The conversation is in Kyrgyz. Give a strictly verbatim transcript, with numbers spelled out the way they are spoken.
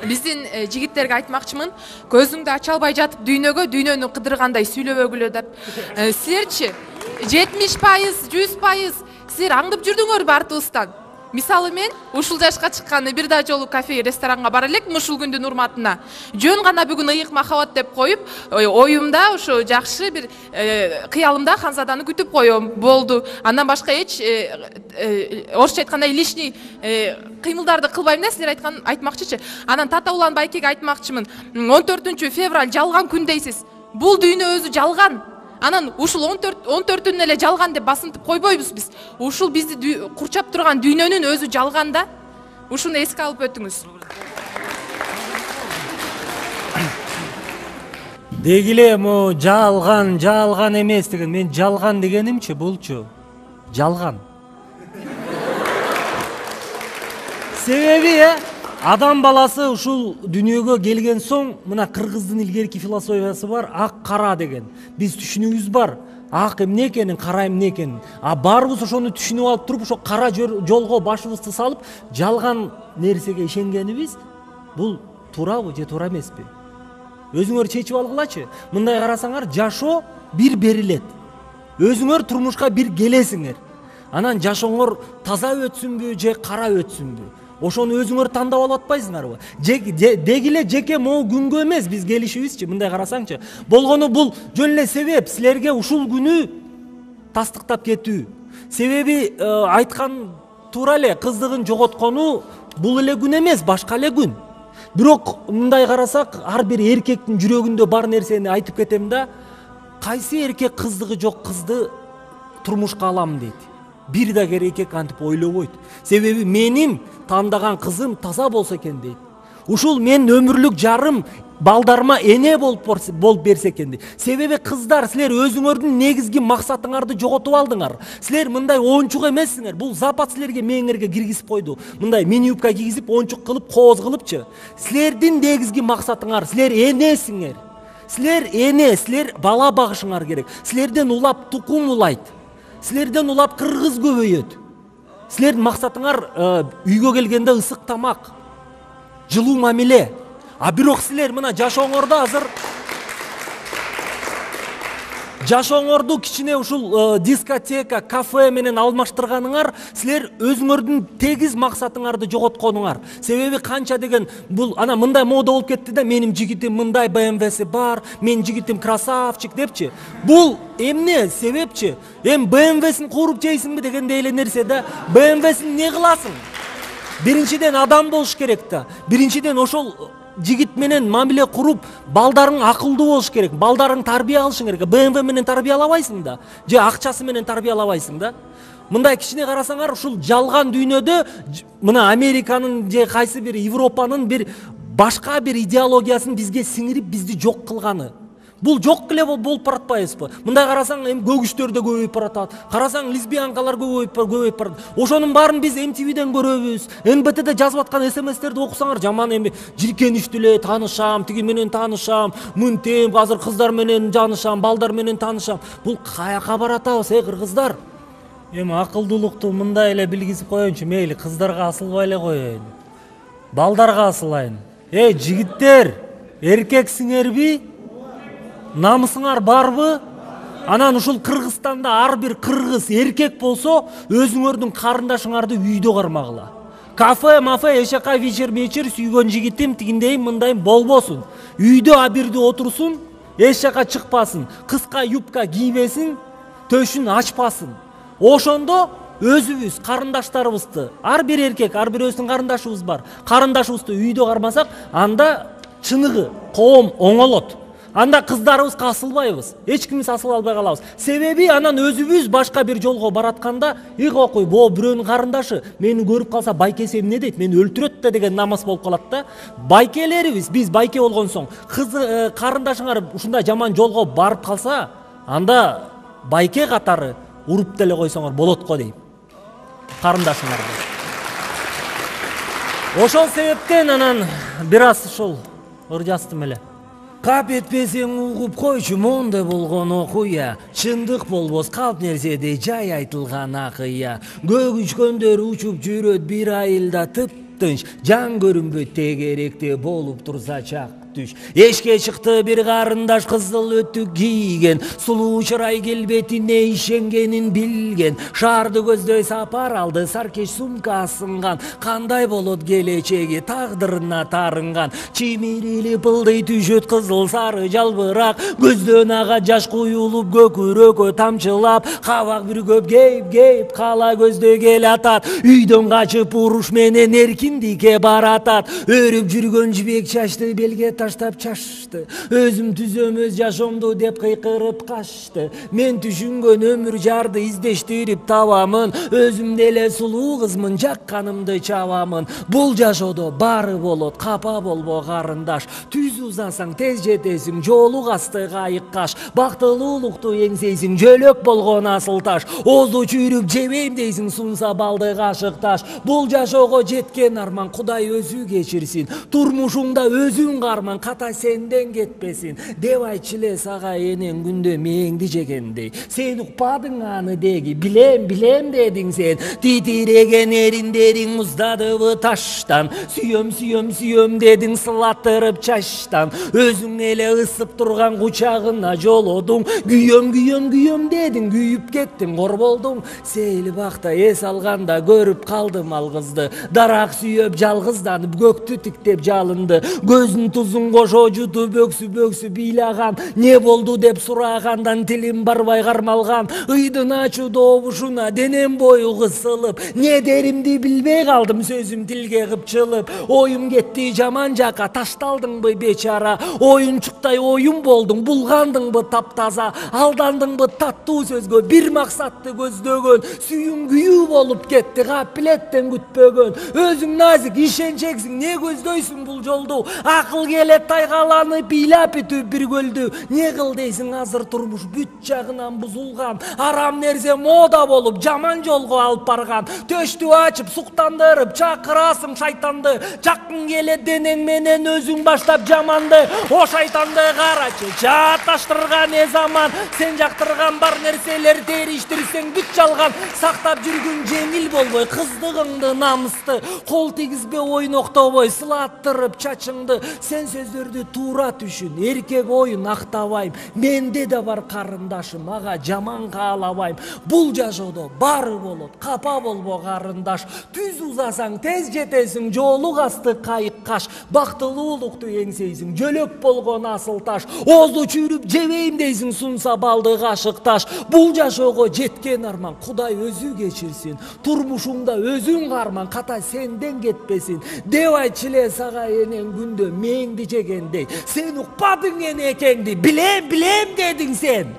биздин жигиттерге айтмакчымын, көзүңдү ача албай жатып дүйнөгө дүйнөнү кыдыргандай сүйлөбөгүлө деп. Силерчи жетимиш пайыз, жүз пайыз силер аңдып жүрдүңөрбү артыбыздан? Мисалы мен ушул жашка чыкканы бир да жолу кафе, ресторанга бара элекмин ушул күндүн урматына. Жөн гана бүгүн ыйык махабат деп коюп, оюмда ушу жакшы бир кыялымда Ханзаданы күтүп коем. Болду. Андан башка эч орусча айтканда лишний кыймылдарды кылбайм да, силер айткан айтмакчычы. Анан Тата Улан Байкеге айтмакчымын. он төртүнчү февраль жалган күн дейсиз. Бул дүйнө өзү жалган. Анан ушул он төртүнүн эле жалган деп басынтып койбойбуз биз. Ушул бизди курчап турган дүйнөнүн өзү жалган да. Ушуну эске алып өтүңүз. Дегиле мо жалган, жалган эмес деген. Мен жалган дегенимчи булчу. Жалган. Себеби э адам баласы ушул дүйнөгө келген соң, мына кыргыздын илгерки философиясы бар, ак кара деген. Биз түшүнүгүбүз бар. Ак эмне экенин, кара эмне экенин. А баарыбыз ошону түшүнүп алып туруп, ошо кара жолго башыбызды салып, жалган нерсеге ишенгенибиз, бул туурабы же туура эмеспи? Өзүңөр чечип алгылачы. Мындай карасаңар, жашоо бир берилет. Өзүңөр турмушка бир келесиңер. Анан жашооңор таза өтсүнбү же кара өтсүнбү? Ошону өзүңөр тандап алып атпайсыңарбы? Дегиле жеке могу күнгө эмес биз келишибизчи, мындай карасаңчы. Болгону бул жөн эле себеп силерге ушул күнү тастыктап кетүү. Себеби айткан туура эле, кыздыгын жоготкону бул эле күн эмес, башка эле күн. Бирок мындай карасак, ар бир эркектин жүрөгүндө бар нерсени айтып кетем да, кайсы эркек кыздыгы жок кызды турмушка алам дейт. Бир да эркек антип ойлобойт. Себеби менин тандаган кызым таза болсо экен дейт. Ушул мен өмүрлүк жарым, балдарыма эне болуп болуп берсе экен дейт. Себеби кыздар, силер өзүңөрдүн негизги максатыңарды жоготуп алдыңар. Силер мындай оончук эмессиңер. Бул запад силерге мээңерге киргизип койду. Мындай мини юбка кийгизип, оончук кылып, кооз кылыпчы. Силердин негизги максатыңар, силер энесиңер. Силер эне, силер бала багышыңар керек. Силерден улап тукум улайт. Силерден улап кыргыз көбөйөт. Силердин максатыңар үйгө келгенде ысык тамак, жылуу мамиле. А бирок силер мына жашооңордо азыр жашооңорду кичине ушул дискотека, кафе менен алмаштырганыңар, силер өзүңөрдүн тегиз максатыңарды жоготконуңар. Себеби канча деген бул ана мындай мода болуп кетти да, менин жигитим мындай бэ эм вэси бар, менин жигитим красавчик депчи. Бул эмне себепчи? Эм бэ эм вэсин кууруп жейсиңби дегендей эле нерсе да. бэ эм вэсин эмне кыласың? Биринчиден адам болуш керек да. Биринчиден ошол жигит менен мамиле куруп, балдарың акылдуу болуш керек, балдарың тарбия алышың керек. бэ эм вэ менен тарбиялабайсың да, же акчасы менен тарбиялабайсың да. Мындай кичине карасаңар, ушул жалган дүйнөдө мына Американын же кайсы бир Европанын бир башка бир идеологиясын бизге сиңирип, бизди жок кылганы. Бул жок эле болуп баратпайбызбы? Мындай карасаң, эми көгүчтөр да көбөйүп баратат. Карасаң, лесбиянкалар көбөйүп көбөйүп барат. Ошонун баарын биз эм ти виден көрөбүз. эн бэ тэде жазып аткан эс эм эстерди окусаңар, жаман эми жилкеништүү эле таанышам, тиги менен таанышам, мынтем, азыр кыздар менен жанышам, балдар менен таанышам. Бул каяка баратабыз, э кыргыздар? Эми акылдуулукту мындай эле билгизип коеюнчу, мейли кыздарга асылбай эле коеюн. Балдарга асылайын. Эй, жигиттер, эркексиңерби? Намысыңар барбы? Анан ушул Кыргызстанда ар бир кыргыз эркек болсо, өзүңөрдүн карындашыңарды үйдө кармагыла. Кафе, мафе, эшака, вечер, вечер, сүйгөн жигитим, тигиндейм, мындайм болбосун. Үйдө абирде отурсун, эшака чыкпасын, кыска юбка кийбесин, төшүн ачпасын. Ошондо өзүбүз, карындаштарыбызды, ар бир эркек, ар бир өзүнүн карындашыбыз бар. Карындашыбызды үйдө кармасак, анда чыныгы коом оңолот. Анда кыздарыбызга асылбайбыз. Эч кимибиз асыла албай калабыз. Себеби анан өзүбүз башка бир жолго баратканда, "Ик окуй, бо бирөөнүн карындашы, мени көрүп калса байкеси эмне дейт? Мени өлтүрөт да" деген намыс болуп калат да. Байкелерибиз, биз байке болгон соң, кыз карындашыңар ушундай жаман жолго барып калса, анда байке катары уруп деле койсоңор болот го дейм. Карындашыңарды. Ошол себептен анан бир аз ушул ыржастым эле. Кап этпесең угуп койчу, мондай болгон окуя. Чындык болбос калп нерседей жай айтылган акыя. Көк учкөндөр учуп жүрөт бир айылда тып тыпчып-тынч, жан көрүнбөйт тегеректе болуп турса чак түш. Эшке чыкты бир карындаш кызыл өтүк кийген, сулуу чырай келбетине ишенгенин билген. Шаарды көздөй сапар алды, саркеш сумка асынган, кандай болот келечеги тагдырына тарынган. Чимирили пылдый түшөт кызыл сары жалбырак, көздөн ага жаш куюлуп көкүрөккө тамчылап, кабак бир көп кейип-кейип кала көздөй кел атат. Үйдөн качып уруш менен эркиндикке баратат. Өрүп жүргөн жибек чачты белге таштап чашты. Өзүм түзөм өз жашоомду деп кыйкырып качты. Мен түшүнгөн өмүр жарды издештирип табамын. Өзүм деле сулуу кызмын, жакканымды чабамын. Бул жашоодо баары болот, капа болбо карындаш. Түз узасаң тез жетесиң, жоолук асты кайык каш. Бактылуулукту эңсейсиң, жөлөк болгон асыл таш. Озу чүйрүп жебейм дейсиң, сунса балды кашык таш. Бул жашоого жеткен арман Кудай өзү кечирсин. Турмушуңда өзүң карман, ката сенден кетпесин. Деп айтчу эле сага энең күндө мээңди жегендей. Сен укпадың аны деги, билем билем дедиң сен. Титиреген эриндериң муздадыбы таштан. Сүйөм сүйөм сүйөм дедиң сылаттырып чачтан. Өзүң эле ысып турган кучагына жолодуң. Күйөм күйөм күйөм дедиң, күйүп кеттиң, кор болдуң. Сейил бакта эс алганда көрүп калдым ал кызды. Дарак сүйөп жалгызданып көктү тиктеп жалынды. Көзүн тузун кошо жутуп өксү бөксү билаган. Не болду деп сурагандан тилим барбай кармалган. Ыйдын ачуу добушуна денем бою кысылып, не деримди билбей калдым, сөзүм тилге кыпчылып. Оюм кетти жаман жака, ташталдыңбы бечара. Оюнчуктай оюм болдуң, булгандыңбы таптаза. Алдандыңбы таттуу сөзгө, бир максатты көздөгөн. Сүйүң күйүү болуп кетти, капилеттен күтпөгөн. Өзүң назик, ишенчексиң, не көздөйсүң бул жолду? Акыл келет тайгаланып, ыйлап бүтүп бир көлдү. Не кыл дейсиң, азыр турмуш бүт жагынан бузулган. Арам нерсе мода болуп, жаман жолго алып барган. Төштү ачып, суктандырып, чакырасың шайтанды. Жакын келет денең менен өзүң баштап жаманды. О шайтанды карачы, жааташтырган не заман. Сен жактырган бар нерселер териштирсең бүт жалган. Сактап жүргүн жеңил болбой, кыздыгыңды намысты. Кол тигизбе ойноктобой, сылаттырып чачыңды. Сен сөздөрдү туура түшүн, эркек оюн актабайм. Менде да бар карындашым, ага жаман каалабайм. Бул жашоодо баары болот, капа болбо карындаш. Түз узасаң тез жетесиң, жоолук асты кайык каш. Бактылуулукту эңсейсиң, жөлөк болгон асыл таш. Озу чүйрүп жебейм дейсиң, сунса балды кашык таш. Бул жашоого жеткен арман Кудай өзү кечирсин. Турмушуңда өзүң карман, ката сенден кетпесин. Деп айтчу эле сага энең күндө мээңди жегендей. Сен укпадың энекеңди, билем билем дедиң сен.